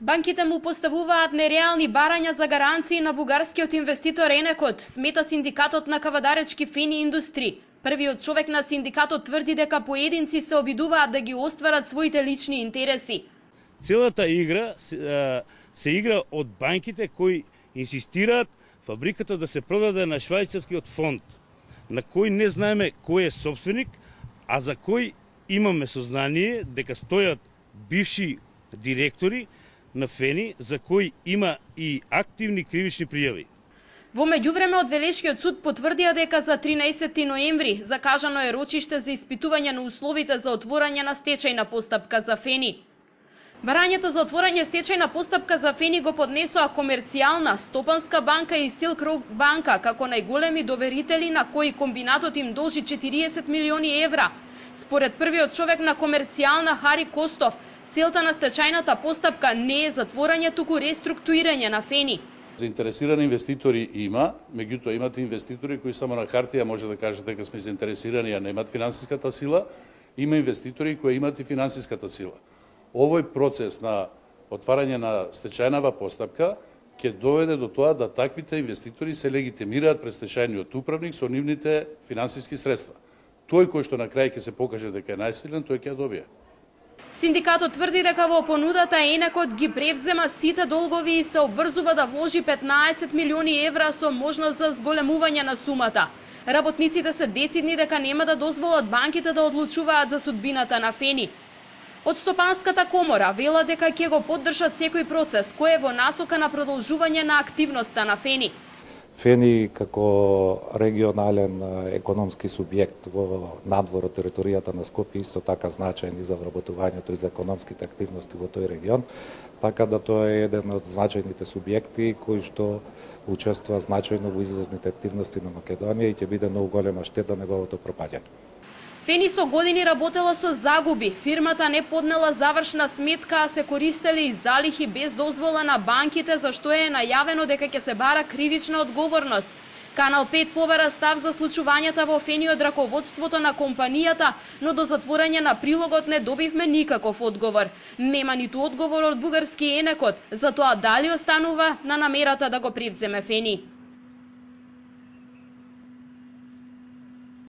Банките му поставуваат нереални барања за гаранции на бугарскиот инвеститор Енекот, смета синдикатот на кавадаречки Фени индустри. Првиот човек на синдикатот тврди дека поединци се обидуваат да ги остварат своите лични интереси. Целата игра се игра од банките кои инсистираат фабриката да се продаде на швајцарскиот фонд, на кој не знаеме кој е собственик, а за кој имаме сознание дека стојат бивши директори на Фени, за кои има и активни кривични пријави. Во меѓувреме од Велешкиот суд потврдија дека за 13 ноември закажано е рочиште за испитување на условите за отворање на стечајна постапка за Фени. Барањето за отворање стечајна постапка за Фени го поднесоа Комерцијална, Стопанска банка и Силк Рок банка како најголеми доверители на кои комбинатот им должи 40 милиони евра. Според првиот човек на Комерцијална Хари Костов, целта на стечајната постапка не е затворање, туку реструктурирање на Фени. Заинтересирани инвеститори има, меѓутоа имате инвеститори кои само на хартија може да кажат дека сме заинтересирани, а немаат финансиската сила. Има инвеститори кои имаат и финансиската сила. Овој процес на отварање на стечајнава постапка ќе доведе до тоа да таквите инвеститори се легитимираат пред стечајниот управник со нивните финансиски средства. Тој кој што на крај ќе се покаже дека е најсилен, тој ќе ја добие. Синдикатот тврди дека во понудата Енекот ги превзема сите долгови и се обврзува да вложи 15 милиони евра со можност за зголемување на сумата. Работниците се децидни дека нема да дозволат банките да одлучуваат за судбината на Фени. Од Стопанската комора вела дека ќе го поддржат секој процес кој е во насока на продолжување на активноста на Фени. Фени како регионален економски субјект во надвор од територијата на Скопје исто така значаен и за вработувањето и за економските активности во тој регион, така да тоа е еден од значајните субјекти кои што учествува значајно во извозните активности на Македонија и ќе биде многу голема штета неговото пропаѓање. Фени со години работела со загуби, фирмата не поднела завршна сметка, а се користели и залихи без дозвола на банките, за што е најавено дека ќе се бара кривична одговорност. Канал 5 побара став за случувањата во Фени од раководството на компанијата, но до затворање на прилогот не добивме никаков одговор. Нема ниту одговор од бугарски Енекот, за тоа дали останува на намерата да го превземе Фени.